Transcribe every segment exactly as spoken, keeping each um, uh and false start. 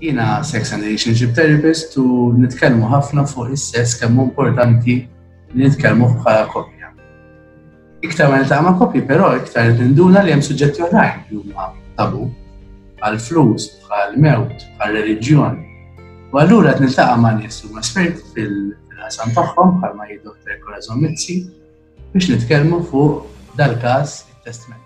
Jiena sex and relationship therapist u nitkellmu ħafna fuq is-sess, kemm hu importanti li nitkellmu bħala koppja. Iktar ma niltaqa' ma' koppji, però iktar ninduna li hemm suġġetti oħrajn li huma tabu, bħal flus, bħal mewt, bħal reliġjon. U allura qed niltaqa' ma' nies huma esperti fil-qasam tagħhom, bħalma hi Doctor Corazon Mizzi, biex nitkellmu fuq dal-każ, it-testment.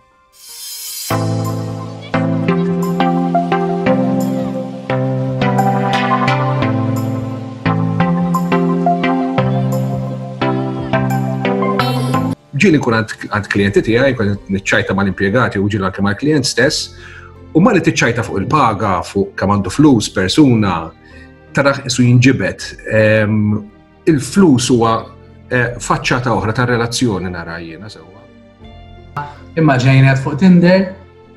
Ġieli nkun għand klijenti tiegħi, kun niċċajta mal-impjegati u ġieli anke mal-klient stess, u ma li tiċċajta fuq il-paga, fuq kemm għandu flus persuna, taraħ isu jinġibed. Il-flus huwa eh, faċċata oħra ta' relazzjoni, nara jiena sewwa. Immaġina fuq Tinder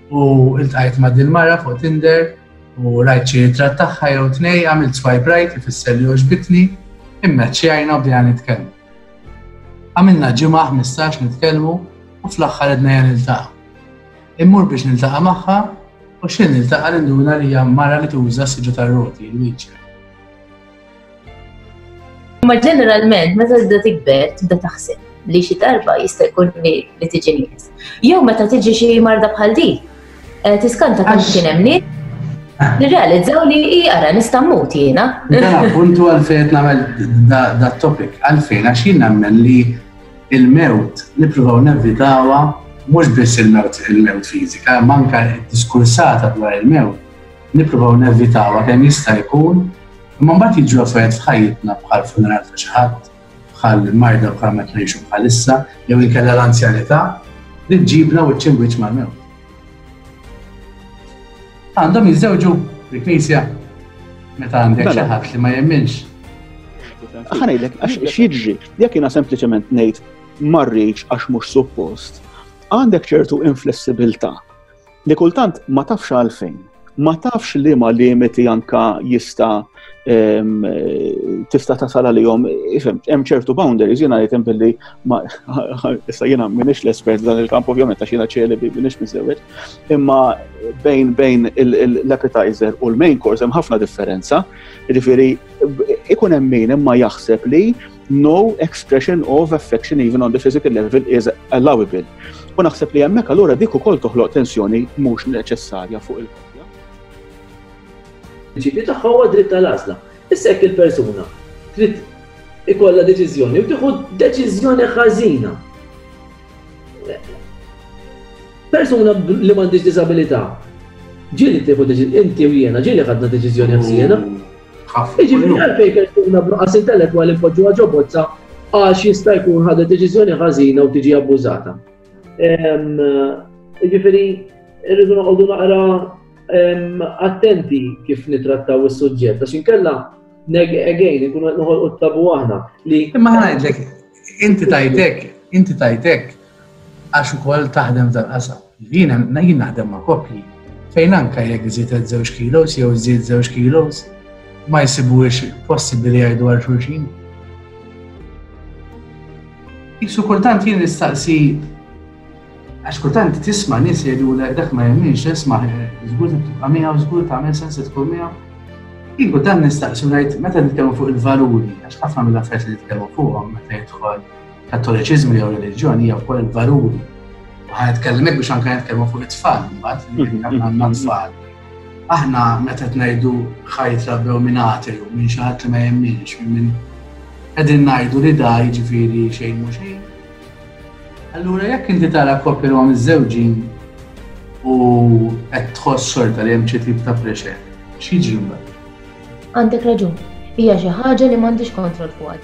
u iltqajt ma' dil-mara fuq Tinder u rajt xi ritratt tagħha jew tnej, għamilt swipe right, ifisser li għoġbitni, immeċċjajna u bdejna nitkellmu. Għamilna ġimgħa, ħmistax nitkellmu u fl-aħħar għedna ejja niltaqa'. Immur biex niltaqa' magħha u x'ħin niltaqa' ninduna li hija mara li tuża s-siġġu tar-roti, il-wheelchair. Ma ġeneralment, meta tibda tikber, tibda taħseb li xi darba jista' jkun li tiġi nies. Jew meta tiġi xi marda bħal di, eh, tiskanta kemm kien hemm nies nirrealizzaw li hi ara nista' mmut jiena. Dan appuntu għalfejn qed nagħmel da topic, għalfejn, għax jien nemmen li il-mewt nippruvaw nevitawha, mhux biss il-mewt, il-mewt fiżika, imma anke d-diskursata dwar il-mewt nippruvaw nevitawha kemm jista' jkun, imma mbagħad jiġu affarijiet f'ħajjitna bħal funeral ta' xi ħadd, bħal marda bħal ma ngħixu bħalissa, jew inkella l-anzjanità li ġġibna wiċċ imwiċċ mal-mewt. Għandhom jiżżewġu fil-knisja meta għandek Mela. xi ħadd li ma jemminx. Ħa ngħidlek, għax x'jiġri, jekk jiena sempliċement ngħid ma rridx għax mhux suppost, għandek ċertu inflessibilità li kultant ma tafx għalfejn, ma tafx li ma limiti anka jista' em, tista' tasal għalihom, ifhem, hemm ċertu boundaries, jiena ngħid billi ma issa jiena m'iniex l-espert dan il-kamp ovvjament għax jiena ċelibi, m'iniex miżżewweġ, imma bejn, bejn il-, il-, l-appetizer u l-main course hemm ħafna differenza. Jiġifieri ikun hemm min imma jaħseb li no expression of affection even on the physical level is allowable. U naħseb li hemmhekk allura dik ukoll toħloq tensjoni mhux neċessarja fuq il-koppja. Il-prinċipju tagħha huwa dritt tal-għażla. Issa jekk il-persuna trid ikollha deċiżjoni u tieħu deċiżjoni ħażina. Persuna li m'għandix diżabilità, ġieli tieħu deċiżjoni, inti u jiena ġieli ħadna deċiżjoni ħażina. Ħafna. Jiġifieri għalfejn persuna b'nuqqas intellettwali npoġġuha ġo bozza għax jista' jkun ħadet deċiżjoni ħażina u tiġi abbużata. Jiġifieri irridu noqogħdu naqra em, attenti kif nitrattaw is-suġġett, għax inkella neg again ikunu qed noħolqu t-tabu aħna li Imma ħa ngħidlek, inti tajtek, inti tajtek għax ukoll taħdem f'dal-qasam. Jiena jien naħdem ma' koppji fejn anke jekk żiedet żewġ kilos jew żied żewġ kilos ma jsibuhiex possibbli jgħidu għal xulxin. Isu kultant jien nistaqsi, għax kultant tisma' nies jgħidu dak ma jemminx, isma' żgur tibqa' miegħu, żgur tagħmel sens tkun miegħu. Jien kultant nistaqsi ngħid meta nitkellmu fuq il-valuri, għax ħafna mill-affarijiet li nitkellmu fuqhom meta jidħol kattoliċiżmu jew reliġjoni hija wkoll il-valuri. U ħa nitkellem hekk biex anke nitkellmu fuq it-tfal, mbagħad li aħna għandna tfal. Aħna meta qed ngħidu ħa jitrabbew minn ateu, minn xi ħadd li ma jemminx, minn qegħdin ngħidu li da jiġifieri xejn mhu xejn. Allura jekk inti tara koppja li huma miżżewġin u qed tħoss xorta li hemm xi tip ta' pressure, x'jiġri mbagħad? Għandek raġun, hija xi ħaġa li m'għandix kontroll fuqha.